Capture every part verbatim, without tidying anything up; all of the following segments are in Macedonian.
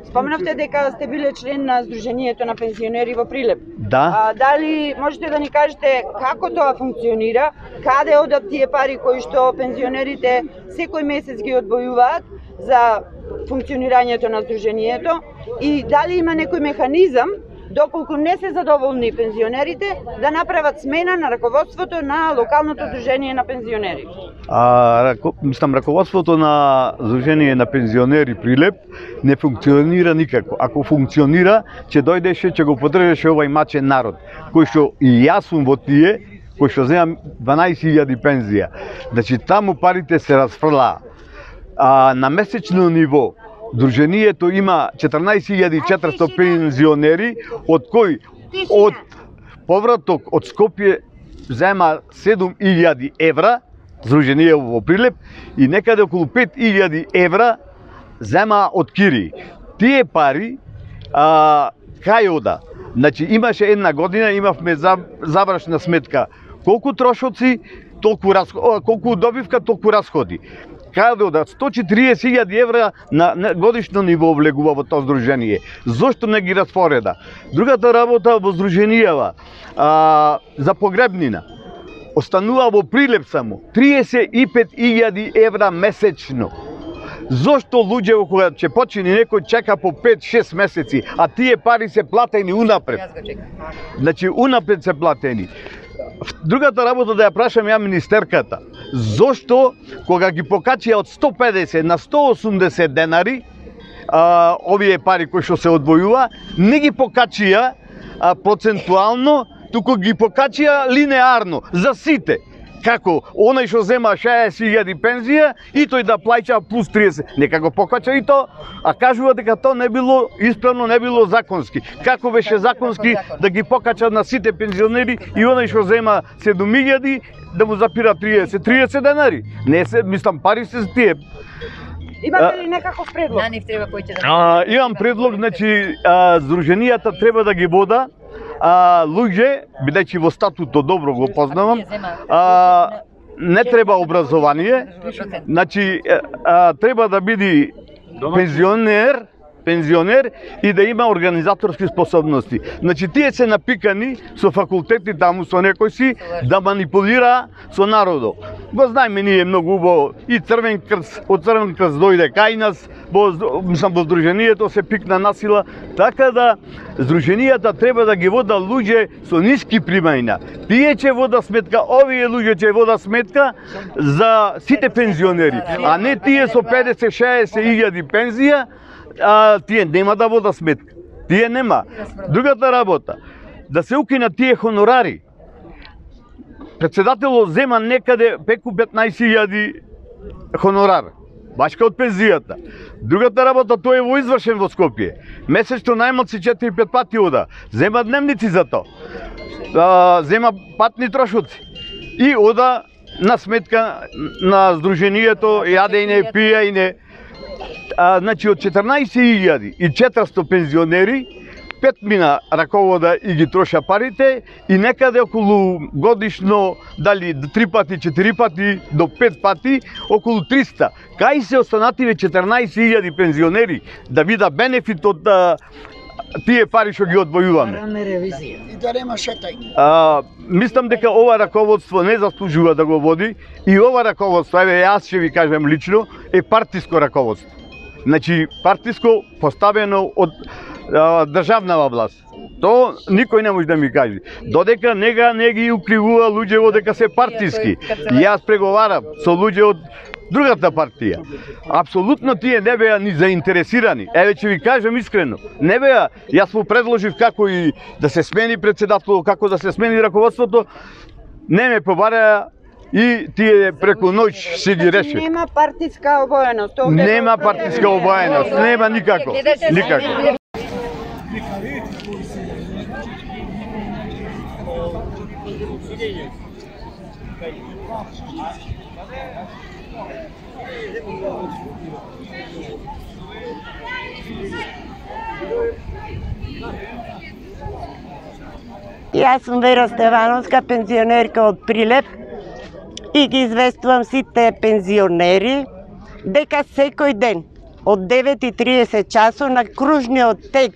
Споменавте дека сте биле член на Сдруженијето на пензионери во Прилеп. Да. А, дали можете да ни кажете како тоа функционира, каде одат тие пари кои што пензионерите секој месец ги одвојуваат за функционирањето на Сдруженијето и дали има некој механизам доколку не се задоволни пензионерите да направат смена на раководството на локалното Сдружение на пензионери? А, рако, мислам, раководството на Сдружение на пензионери Прилеп не функционира никако. Ако функционира, ќе дојдеше, ќе го поддржеше овај мачен народ, кој што и јас сум во тие, кој што земам дванаесет илјади пензија. Значи, таму парите се расфрлаа. А, на месечно ниво, Сдруженијето има четрнаесет илјади и четиристотини пензионери, од кои од повраток од Скопје зема седум илјади евра, Сдружение во Прилеп, и некаде околу пет илјади евра зема од Кири. Тие пари а, кај ода? Значи, имаше една година, имавме завршна сметка. Колку трошоци, толку расходи, колку добивка, толку расходи. Каде ода? сто и четириесет илјади евра на, на годишно ниво влегува во тоа Сдружение. Зошто не ги распореда? Другата работа во Сдруженијава, а, за погребнина, останува во Прилеп само триесет и пет илјади евра месечно. Зошто луѓе кога ќе почини некој чека по пет-шест месеци, а тие пари се платени унапред? Значи, унапред се платени. Другата работа да ја прашам ја министерката, зошто кога ги покачија од сто педесет на сто осумдесет денари, а, овие пари кои што се одвојува, не ги покачија а, процентуално, туку ги покачија линеарно за сите. Како онај што зема шеесет илјади пензија и тој да плаќа плюс триесет. Нека го покача и то, а кажува дека тоа не било исправно, не било законски. Како беше законски да ги покачат на сите пензионери и онај што зема седум илјади да му запира триесет, триесет денари. Не се, мислам, пари се тие. Имате ли некаков предлог? На нив треба кој ќе да. А, имам предлог, значи, а, Сдруженијата треба да ги вода а, луѓе, бидејќи во статутот добро го познавам, а, не треба образование, значи, а, треба да биде пензионер, пензионер и да има организаторски способности. Значи, тие се напикани со факултети таму со некој си да манипулира со народот. Го знаеме ние многу убаво и Црвен крст, од Црвен крст дојде кај нас, во, мислам, во Сдруженијето се пикна насила, така да Сдруженијата треба да ги вода луѓе со ниски примања. Тие ќе вода сметка, овие луѓе ќе вода сметка за сите пензионери, а не тие со педесет-шеесет илјади пензија, а, тие нема да вода сметка. Тие нема. Другата работа, да се укинат тие хонорари. Председателот зема некаде преку петнаесет илјади хонорар, башка од пензијата. Другата работа, тој е во извршен во Скопје. Месечно најмалци четири-пет пати ода. Зема дневници за тоа. А, зема патни трошоци. И ода на сметка на Сдруженијето, јадење, пиење. А, значи, од четрнаесет илјади и четиристотини пензионери, пет мина раковода и ги троша парите и некаде околу годишно, дали три пати, четири пати, до пет пати, околу триста. Кај се останативе четрнаесет илјади пензионери да вида бенефит од а, тие пари што ги одвојуваме? И да нема шетање. А, мислам дека ова раководство не заслужува да го води и ова раководство, еве јас ќе ви кажам лично, е партиско раководство. Значи, партиско поставено од а, државнава власт. То никој не може да ми каже. Додека нега не ги укривува луѓе дека се партиски. Јас преговарам со луѓе од другата партија. Апсолутно тие не беа ни заинтересирани. Еве ќе ви кажам искрено. Не беа, јас му предложив како и да се смени председателот, како да се смени раководството. Не ме побареа и тие преку ноќ си ги реши. Нема партиска обоеност. Нема партиска обоеност, нема никако. Никако. Јас сум Вера Стевановска, пензионерка од Прилеп и ги известувам сите пензионери дека секој ден од девет и тридесет часот на кружниот тек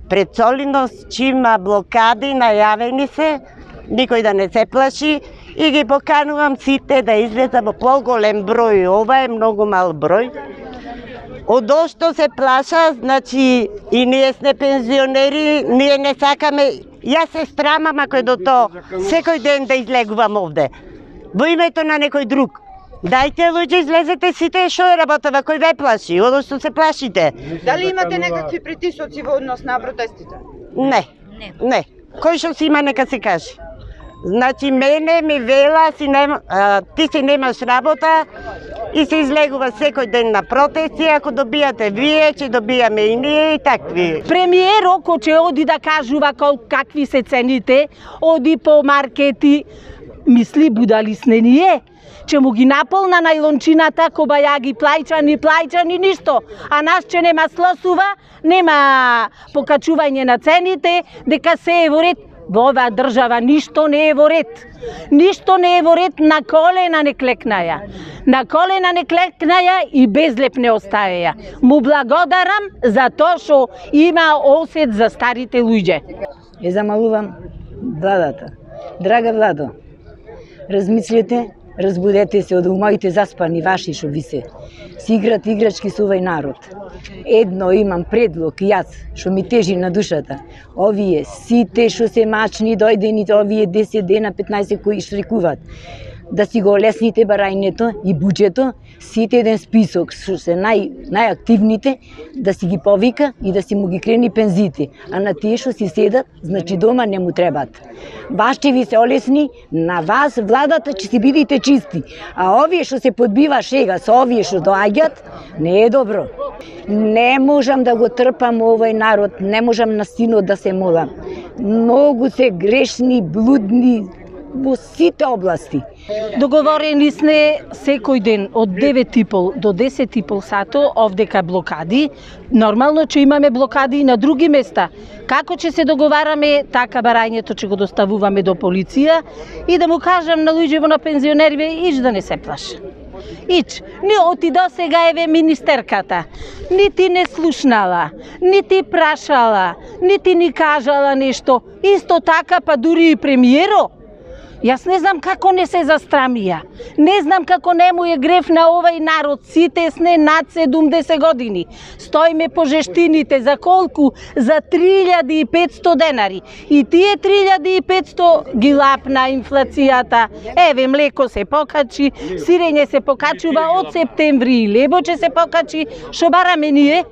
пред Солиност, че има блокади, најавени се, никој да не се плаши, и ги поканувам сите да излезат во поголем број. Ова е многу мал број. Од што се плаша, значи и ние сме пензионери, ние не сакаме. Јас се страмам ако е до тоа секој ден да излегувам овде. Во името на некој друг. Дајте луѓе, излезете сите, што е работава, кој ве плаши, од што се плашите. Дали имате некакви притисоци во однос на протестите? Не, не. Кој што си има, нека се каже. Значи, мене ми вела, си нема, а, ти си немаш работа и се излегува секој ден на протести, ако добијате вие, ќе добијаме и ние и такви. Премиерот кој оди да кажува кол, какви се цените, оди по маркети, мисли будали сне ние, че му ги наполна најлончината, коба ја ги плајча, ни плајча, ни ништо. А нас че нема слосува, нема покачување на цените, дека се е во ред. Во оваа држава ништо не е во ред. Ништо не е во ред, на колена не клекнаја. На колена не клекнаја и безлеп не остаеја. Му благодарам за тоа што има осет за старите луѓе. Ја замалувам владата. Драга владо, размислете, разбудете се од умоите заспани ваши што ви се. Си играт играчки со овој народ. Едно имам предлог јас, што ми тежи на душата. Овие сите што се мачни дојдени, овие десет дена, петнаесет кои штрикуваат, да си го олесните барањето и буџето, сите еден список што се нај најактивните, да си ги повика и да си му ги крени пензиите, а на тие што си седат, значи дома не му требат. Баш ќе ви се олесни, на вас владата ќе си бидите чисти, а овие што се подбива шега со овие што доаѓат, не е добро. Не можам да го трпам овој народ, не можам на синот да се молам. Многу се грешни, блудни во сите области. Договорени сме секој ден од девет и пол до десет и пол сато овдека блокади. Нормално че имаме блокади и на други места. Како ќе се договараме, така барањето ќе го доставуваме до полиција и да му кажам на луѓето на пензионерите, ич да не се плаша. Ич, ни оти до сега еве министерката, нити не слушнала, нити прашала, нити ни кажала нешто. Исто така па дури и премиеро. Јас не знам како не се застрамија. Не знам како не му е грев на овој народ. Сите сне над седумдесет години. Стоиме по жештините за колку? За три илјади и петсто денари. И тие три илјади и петсто ги лапна инфлацијата. Еве млеко се покачи, сирење се покачува од септември, лебо ќе се покачи. Шо бараме ние?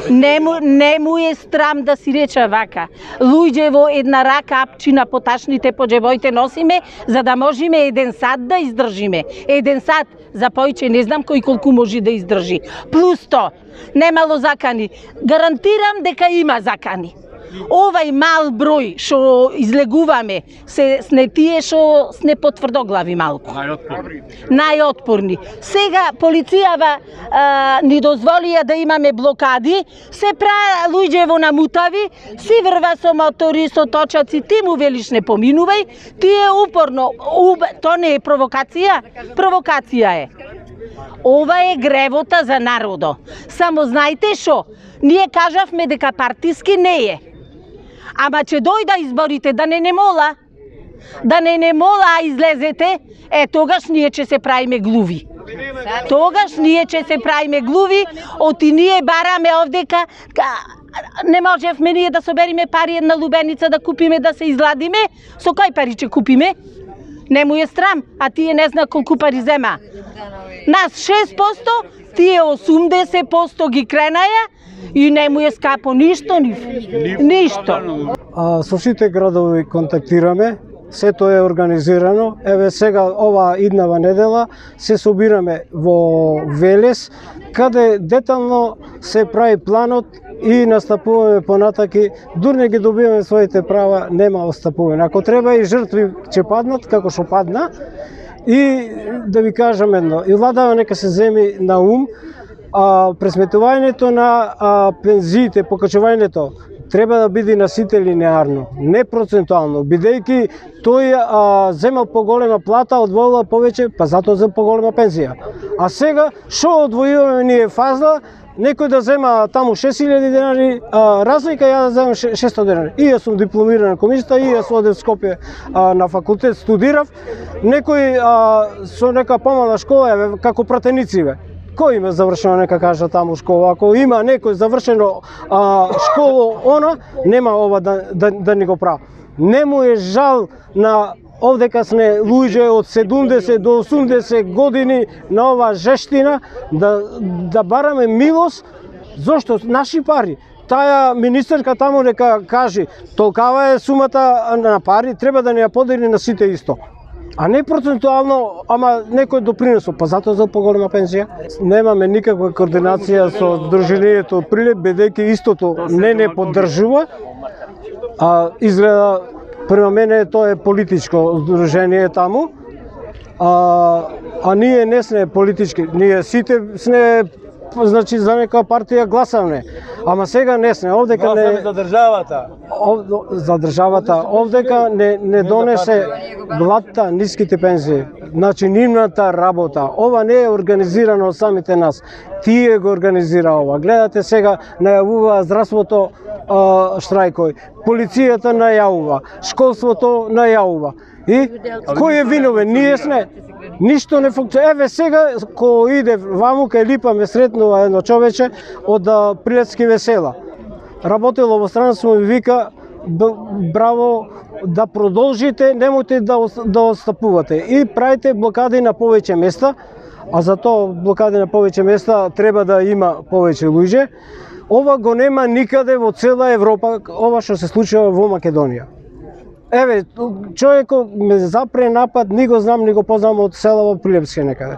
Не му, не му е страм да си рече вака. Луѓе во една рака апчина по ташните по џебоите носиме, за да можеме еден сат да издржиме. Еден сат, за појче не знам кој колку може да издржи. Плюс то, немало закани. Гарантирам дека има закани. Овај мал број што излегуваме се сне тие што сне потврдоглави малку. Најотпорни. Најотпорни. Сега полицијава а, ни дозволија да имаме блокади, се пра луѓе во намутави, си врва со мотори, со точаци, ти му велиш не поминувај, тие упорно, уб... то не е провокација, провокација е. Ова е гревота за народо. Само знаете шо, ние кажавме дека партиски не е. Ама че дојда изборите, да не не мола, да не не мола, а излезете, е тогаш ние ќе се правиме глуви. Тогаш ние ќе се правиме глуви, оти ние бараме овдека, не можевме ние да собериме пари една лубеница да купиме, да се изладиме, со кој пари ќе купиме? Не му е срам, а тие не зна колку пари зема. Нас шест посто, тие осумдесет посто ги кренаја, и не му е скапо ништо, ни, ништо. А, со сите градови контактираме, сето е организирано. Еве сега ова иднава недела се собираме во Велес, каде детално се прави планот и настапуваме понатаки, дури не ги добиваме своите права, нема отстапување. Ако треба и жртви ќе паднат, како што падна, и да ви кажам едно, и владава нека се земи на ум, а, пресметувањето на а, пензиите, покачувањето треба да биде на сите линеарно, не процентуално, бидејќи тој а, земал поголема плата, одвоила повеќе, па затоа за поголема пензија. А сега што одвојуваме ние фазла, некој да зема таму шест илјади денари, а, разлика ја да земам шестоста денари. И јас сум дипломиран економиста, и јас одев в Скопје а, на факултет студирав. Некој а, со нека помала школа, еве, како пратеници, бе. Кој има завршено, нека кажа таму школа. Ако има некој завршено а, школо, она, нема ова да, да, да ни го прави. Не му е жал на овдека сме луѓе од седумдесет до осумдесет години на ова жештина да, да бараме милост, зошто наши пари. Таа министерка таму нека каже, толкава е сумата на пари, треба да ни ја подели на сите исто. А не процентуално, ама некој допринесо, па затоа за поголема пензија. Немаме никаква координација со Сдруженијето Прилеп, бидејќи истото не не поддржува, а изгледа према мене тоа е политичко здружение таму, а, а ние не сме политички, ние сите сме, значи, за нека партија гласавме, ама сега не сме, овдека не... Гласаме за државата. Ов, за државата, овдека не, не донесе владта ниските пензии, значи нивната работа. Ова не е организирано од самите нас, тие го организира ова. Гледате сега, најавува здравството а, штрајкој, полицијата најавува, школството најавува. И кој е виновен? Ние сме. Ништо не функционира. Еве сега, кој иде ваму, кај Липа ме сретнува едно човече од Прилепски весела. Работело во странство ми вика, браво, да продолжите, немојте да, да отстапувате. И правите блокади на повеќе места, а за тоа блокади на повеќе места треба да има повеќе луѓе. Ова го нема никаде во цела Европа, ова што се случува во Македонија. Еве, човекот ме запре напад, ни го знам, ни го познам од села во Прилепске некаде.